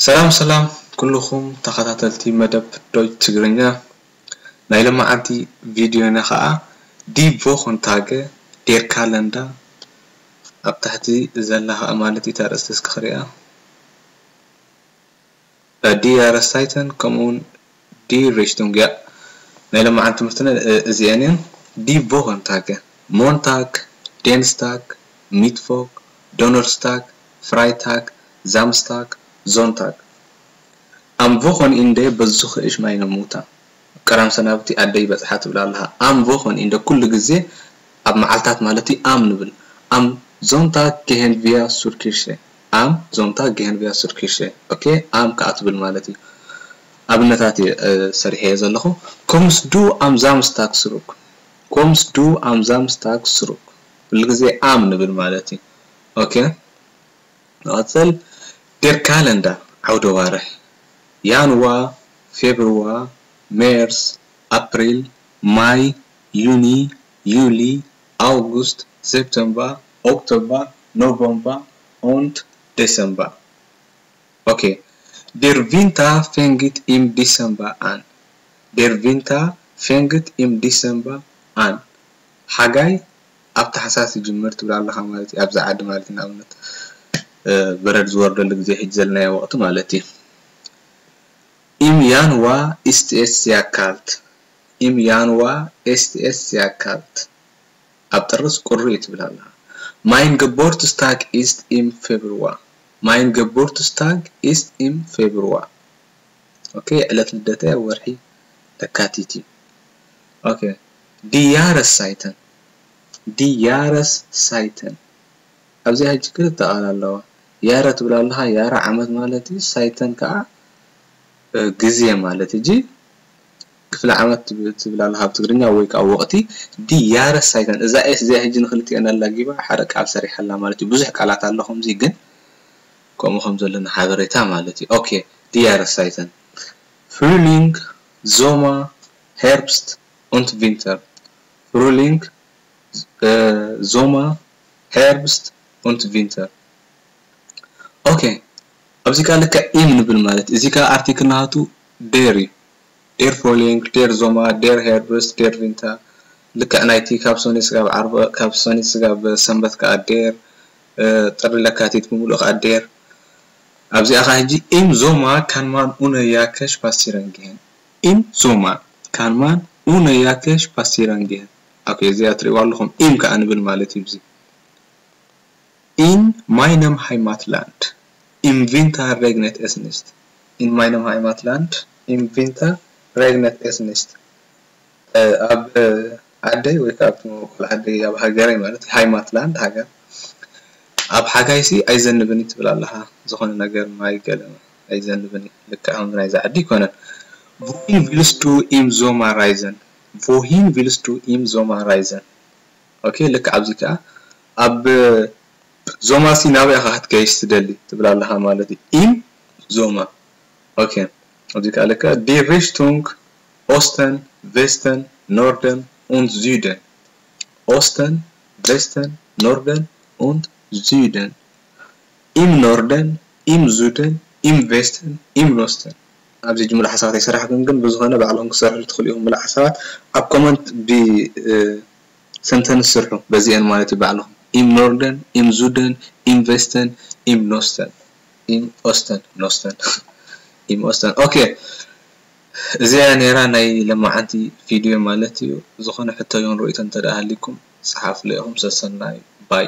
ሰላም ሰላም ኩልኹም ተኸታተልቲ መደብ ዶች ትግርኛ። ናይ ለማዓንቲ ቪድዮና ኸዓ ዲ ቮኸንታገ ዴር ካለንዳ ኣብ ታሕቲ ዘላ ኸዓ ማለት እዩ። እታ ኣርእስቲ እስኪ ክሪኣ። ዲ ያረሳይተን ከምኡውን ዲ ሪሽቱንግ እያ። ናይ ለማዓንቲ ትምህርትና እዚአን እየን። ዲ ቮኸንታገ ሞንታግ፣ ዴንስታግ፣ ሚትቮክ፣ ዶነርስታግ፣ ፍራይታግ፣ ዛምስታግ፣ ዞንታግ። ኣም ቮኸን ኢንደ በዝኹ እሽ ማይነ ሙታ። ቀዳም ሰናብቲ ኣደይ በጽሓ ትብል ኣለኻ። ኣም ቮኸን ኢንደ ኩሉ ግዜ ኣብ መዓልታት ማለት እዩ ኣም ንብል። ኣም ዞንታግ ጌሄን ቪያ ሱርኪርሸ። ኣም ዞንታግ ጌሄን ቪያ ሱርኪርሸ። ኦኬ፣ ኣም ከኣ ትብል ማለት እዩ። ኣብነታት እየ፣ እ፣ ሰሪሐዮ ዘለኹ። ኮምስ ዱ ኣም ዛምስታግ ስሩክ። ኮምስ ዱ ኣም ዛምስታግ ስሩክ። ኩሉ ግዜ ኣም ንብል ማለት እዩ። ኦኬ። ንቐጽል። ዴር ካለንዳ ዓውደ ዋርሕ። ያንዋ፣ ፌብርዋ፣ ሜርስ፣ ኣፕሪል፣ ማይ፣ ዩኒ፣ ዩሊ፣ ኣውጉስት፣ ሴፕተምባ፣ ኦክቶባ፣ ኖቨምባ፣ ኦንት፣ ዴሰምባ። ኦኬ። ዴር ቪንታ ፌንግት ኢም ዲሰምባ ኣን። ዴር ቪንታ ፌንግት ኢም ዲሰምባ ኣን። ሓጋይ ኣብ ታሕሳስ ይጅምር ትብል ኣለኻ ማለት እዩ። ኣብዛ ዓዲ ማለት እዩ፣ ንኣብነት፣ እ፣ በረድ ዝወርደሉ ግዜ፣ ሕጂ ዘለናዮ ወቕቲ ማለት እዩ። ኢም ያንዋ ኢስት ኤስ ያካልት። ኢም ያንዋ ኢስት ኤስ ያካልት። ኣብ ጥርስ ቁሪ እዩ ትብል ኣለኻ። ማይን ገቦርትስታግ ኢስት ኢም ፌብርዋ። ማይን ገቦርትስታግ ኢስት ኢም ፌብርዋ። ኦኬ፣ ዕለት ልደተይ ኣብ ወርሒ ለካቲት እዩ። ኦኬ፣ ዲ ያረስ ሳይተን። ዲ ያረስ ሳይተን። ኣብዚኣ ሕጂ ክልተ ቃል ኣለዋ። ያረ ትብል ኣለኻ፣ ያረ ዓመት ማለት እዩ፣ ሳይተን ከዓ፣ እ፣ ግዜ ማለት። ሕጂ ክፍለ ዓመት ትብ-፣ ትብል ኣለኻ ኣብ ትግርኛ ወይ ከዓ ወቕቲ። ዲ ያረስ ሳይተን። እዛ ኤስ እዚኣ ሕጂ ንክልቲኤን ኣላጊባ ሓደ ቃል ሰሪሓላ ማለት እዩ። ብዙሕ ቃላት ኣሎ ከምዚ፣ ግን ከምኡ ከም ዘለና ሓበሬታ ማለት እዩ። ኦኬ፣ ዲ ያረስ ሳይተን። ፍሩሊንግ፣ ዞማ፣ ሄርብስት፣ ኡንት ቪንተር። ፍሩሊንግ፣ እ፣ ዞማ፣ ሄርብስት፣ ኡንት ቪንተር። ኦኬ፣ ኣብዚ ከኣ ልክዕ ኢም ንብል ማለት፣ እዚ ከኣ ኣርቲክል ናቱ ዴር እዩ። ዴር ፍሩሊንግ፣ ዴር ዞማ፣ ዴር ሄርብስት፣ ዴር ቪንተር። ልክዕ ናይቲ ካብ ሶኒ ስጋብ ዓርበ፣ ካብ ሶኒ ስጋብ ሰንበት ከኣ ዴር፣ እ፣ ጥሪ ለካቲት ብምሉእ ከኣ ዴር። ኣብዚኣ ከኣ ሕጂ ኢም ዞማ ካን ማን ኡነ ያከሽ ፓሲረን ጊሄን። ኢም ዞማ ካን ማን ኡነ ያከሽ ፓሲረን ጊሄን። ኦኬ፣ እዚኣ ትሪእዋ ኣለኹም። ኢም ከኣ ንብል ማለት እዩ። እዚ ኢን ማይነም ሃይማትላንድ ኢም ቪንታ ሬግነት ኤስኒስት። ኢን ማይነም ሃይማትላንድ ኢም ቪንታ ሬግነት ኤስኒስት። እ፣ ኣብ፣ እ፣ ዓደይ ወይ ከዓ ኣብቲ መበቆል ዓደይ፣ ኣብ ሃገረይ ማለት እዩ፣ ሃይማትላንድ ሃገር፣ ኣብ ሓጋይሲ ኣይዘንብን እዩ ትብል ኣለኻ። ዝኾነ ነገር ማይ ገለ ኣይዘንብን እዩ። ልክዕ ከምዚ ናይዚ ዓዲ ኣይኮነን። ቮሂን ቪልስቱ ኢም ዞማ ራይዘን? ቮሂን ቪልስቱ ኢም ዞማ ራይዘን? ኦኬ፣ ልክዕ ኣብዚ ከኣ ኣብ ዞማ ሲ ናበይ ኢኻ ክትገይሽ ትደሊ ትብል ኣለኻ ማለት እዩ። ኢም ዞማ። ኦኬ፣ ኣብዚ ከኣ ልክዕ ዲ ሪሽቱንግ ኦስተን፣ ቬስተን፣ ኖርደን ኡንት ዙደን። ኦስተን፣ ቬስተን፣ ኖርደን ኡንት ዙደን። ኢም ኖርደን፣ ኢም ዙደን፣ ኢም ቬስተን፣ ኢም ኖስተን። ኣብዚ ጅምላ ሓሳባት ኣይሰራሕኩን፣ ግን ብዝኾነ ባዕልኹም ክሰርሑ ትኽእሉ ኢኹም። ምሉእ ሓሳባት ኣብ ኮመንት ብ-፣ እ፣ ሰንተንስ ስርሑ በዚአን ማለት እዩ ባዕልኹም። ኢም ኖርደን፣ ኢም ዙደን፣ ኢም ቬስተን፣ ኢም ኖስተን። ኢም ኦስተን፣ ኖስተን። ኢም ኦስተን። ኦኬ። እዚኣ ነይራ ናይ ለማዓንቲ ቪድዮ ማለት እዩ። ዝኾነ ሕቶ ይኹን ርእይቶ እንተ ደኣ ሃሊኩም፣ ጸሓፉለይ ኢኹም። ሰሰናዩ። ባይ።